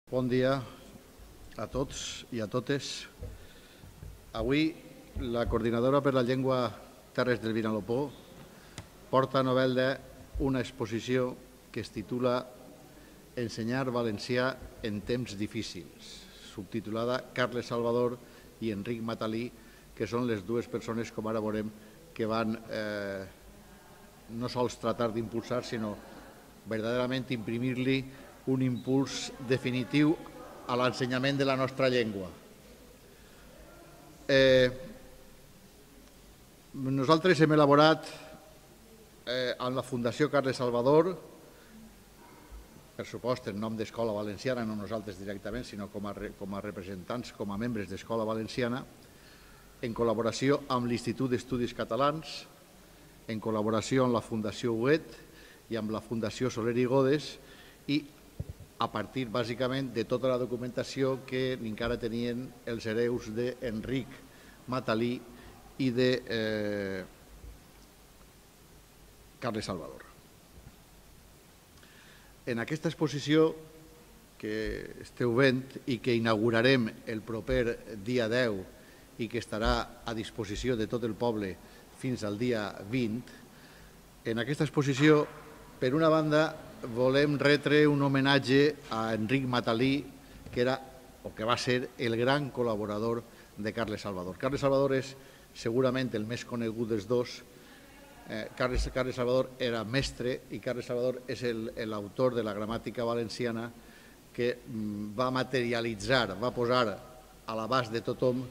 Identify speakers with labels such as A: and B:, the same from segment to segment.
A: Bon dia a tots i a totes. Avui la Coordinadora per la Llengua Terres del Vinalopó porta a novel·la una exposició que es titula Ensenyar valencià en temps difícils, subtitulada Carles Salvador i Enric Matalí, que són les dues persones, com ara veurem, que van no sols tratar d'impulsar, sinó verdaderament imprimir-li un impuls definitiu a l'ensenyament de la nostra llengua. Nosaltres hem elaborat amb la Fundació Carles Salvador, per supost en nom d'Escola Valenciana, no nosaltres directament, sinó com a representants, com a membres d'Escola Valenciana, en col·laboració amb l'Institut d'Estudis Catalans, en col·laboració amb la Fundació Huguet i amb la Fundació Soler i Godes, i a partir, bàsicament, de tota la documentació que encara tenien els hereus d'Enric Matalí i de Carles Salvador. En aquesta exposició que esteu veient i que inaugurarem el proper dia 10 i que estarà a disposició de tot el poble fins al dia 20, en aquesta exposició, per una banda, volem retre un homenatge a Enric Matalí, que era o que va ser el gran col·laborador de Carles Salvador. Carles Salvador és segurament el més conegut dels dos. Carles Salvador era mestre i Carles Salvador és l'autor de la gramàtica valenciana que va materialitzar, va posar a l'abast de tothom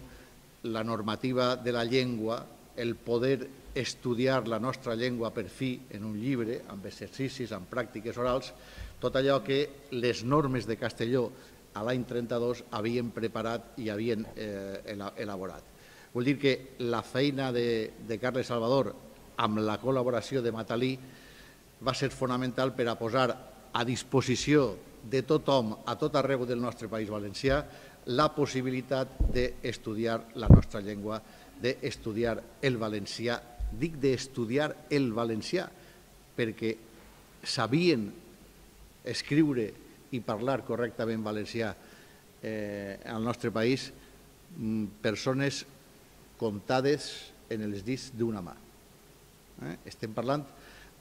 A: la normativa de la llengua, el poder estudiar la nostra llengua per fi en un llibre, amb exercicis, amb pràctiques orals, tot allò que les normes de Castelló a l'any 32 havien preparat i havien elaborat. Vull dir que la feina de Carles Salvador amb la col·laboració de Matalí va ser fonamental per a posar a disposició de tothom, a tot arreu del nostre país valencià, la possibilitat d'estudiar la nostra llengua, d'estudiar el valencià. Dic d'estudiar el valencià perquè sabien escriure i parlar correctament valencià al nostre país persones comptades en els dits d'una mà. Estem parlant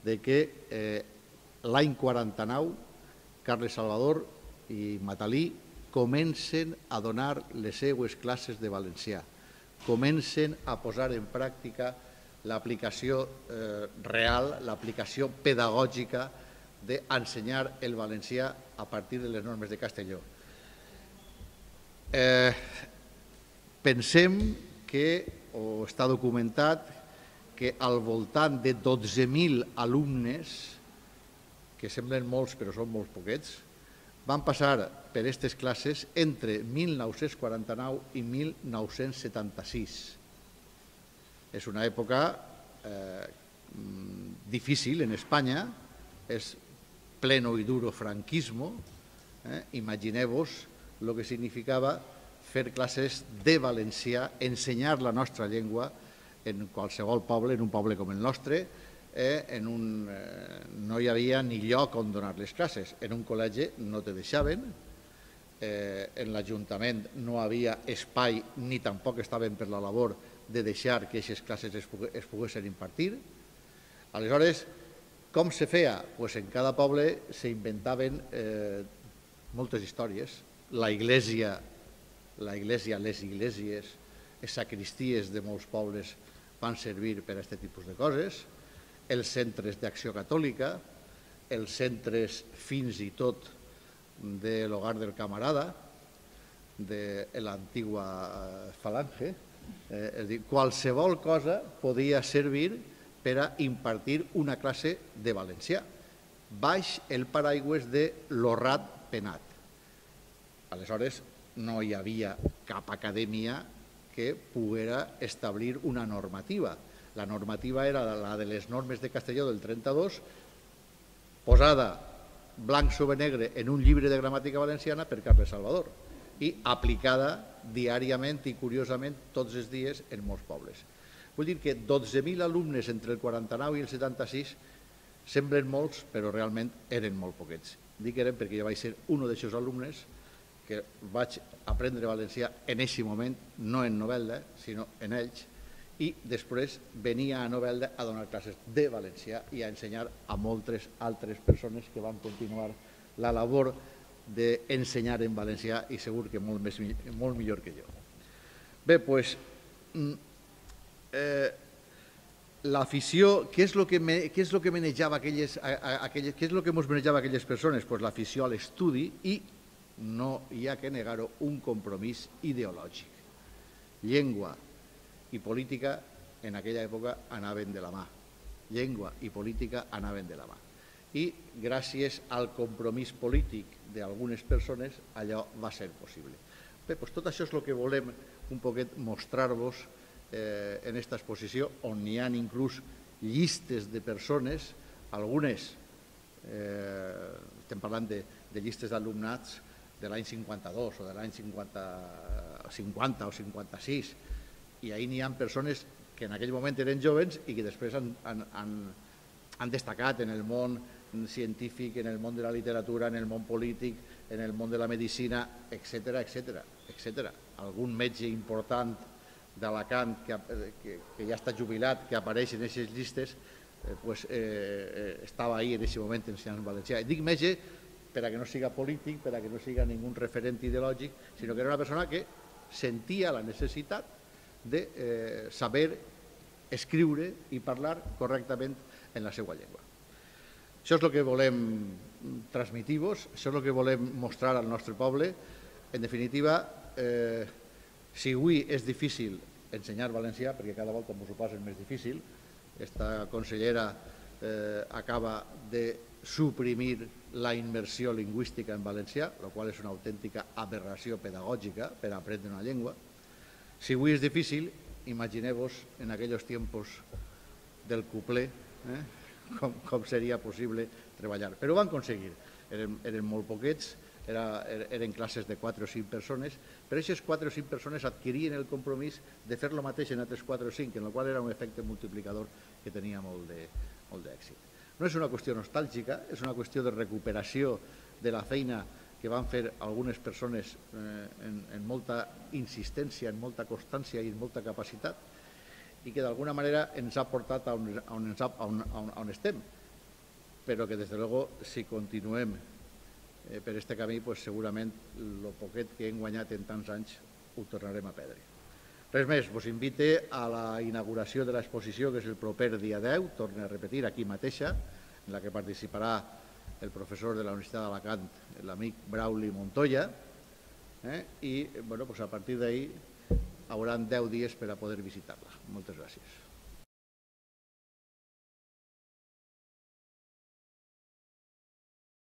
A: de que l'any 49 Carles Salvador i Matalí comencen a donar les seues classes de valencià, comencen a posar en pràctica l'aplicació real, l'aplicació pedagògica d'ensenyar el valencià a partir de les normes de Castelló. Pensem que, o està documentat, que al voltant de 12.000 alumnes, que semblen molts però són molt poquets, van passar per aquestes classes entre 1949 i 1976. És una època difícil en Espanya, és pleno i duro franquismo. Imagineu-vos el que significava fer classes de valencià, ensenyar la nostra llengua en qualsevol poble, en un poble com el nostre, no hi havia ni lloc on donar les classes. En un col·legi no te deixaven, en l'Ajuntament no havia espai ni tampoc estaven per la labor de deixar que aquestes classes es poguessin impartir. Aleshores, com se feia? En cada poble s'inventaven moltes històries. Les iglesies, les sacristies de molts pobles van servir per a aquest tipus de coses, els centres d'acció catòlica, els centres fins i tot de l'Hogar del Camarada, de l'antiga Falange. És a dir, qualsevol cosa podia servir per a impartir una classe de valencià, baix el paraigües de l'Horrat Penat. Aleshores, no hi havia cap acadèmia que poguera establir una normativa. La normativa era la de les normes de Castelló del 32, posada blanc sobre negre en un llibre de gramàtica valenciana per Carles Salvador i aplicada diàriament i curiosament tots els dies en molts pobles. Vull dir que 12.000 alumnes entre el 49 i el 76 semblen molts, però realment eren molt poquets. Dic eren perquè jo vaig ser un d'aquests alumnes que vaig aprendre valencià en aquest moment, no en Novelda, sinó en ells, i després venia a Novelda a donar classes de valencià i a ensenyar a moltes altres persones que van continuar la labor d'ensenyar en valencià i segur que molt millor que jo. Bé, doncs, l'afició, què és el que manejava què és el que ens manejava aquelles persones? Doncs l'afició a l'estudi i, no hi ha que negar-ho, un compromís ideològic. Llengua i política en aquella època anaven de la mà. Llengua i política anaven de la mà. I gràcies al compromís polític d'algunes persones allò va ser possible. Bé, doncs tot això és el que volem un poquet mostrar-vos en aquesta exposició, on hi ha inclús llistes de persones, algunes, estem parlant de llistes d'alumnats de l'any 52 o de l'any 50 o 56, i ahir n'hi ha persones que en aquell moment eren joves i que després han destacat en el món científic, en el món de la literatura, en el món polític, en el món de la medicina, etc. Algun metge important d'Alacant que ja està jubilat, que apareix en aquestes llistes, estava ahir en aquest moment ensenyant valencià. Dic metge perquè no siga polític, perquè no siga ningú referent ideològic, sinó que era una persona que sentia la necessitat de saber escriure i parlar correctament en la seva llengua. Això és el que volem transmitir-vos, això és el que volem mostrar al nostre poble. En definitiva, si avui és difícil ensenyar valencià, perquè cada volta ens ho posen més difícil, esta consellera acaba de suprimir la immersió lingüística en valencià, la qual és una autèntica aberració pedagògica per aprendre una llengua. Si avui és difícil, imagineu-vos en aquells temps del cupler, com seria possible treballar. Però ho van aconseguir. Eren molt poquets, eren classes de 4 o 5 persones, però aquestes 4 o 5 persones adquirien el compromís de fer el mateix en altres 4 o 5, en el qual era un efecte multiplicador que tenia molt d'èxit. No és una qüestió nostàlgica, és una qüestió de recuperació de la feina que van fer algunes persones en molta insistència, en molta constància i en molta capacitat, i que d'alguna manera ens ha portat on estem, però que des de luego, si continuem per aquest camí, segurament el poquet que hem guanyat en tants anys ho tornarem a perdre. Res més, vos invite a la inauguració de l'exposició, que és el proper dia 10, torno a repetir, aquí mateixa, en la que participarà el professor de la Universitat d'Alacant, l'amic Brauli Montoya, i a partir d'ahir hauran 10 dies per a poder visitar-la. Moltes gràcies.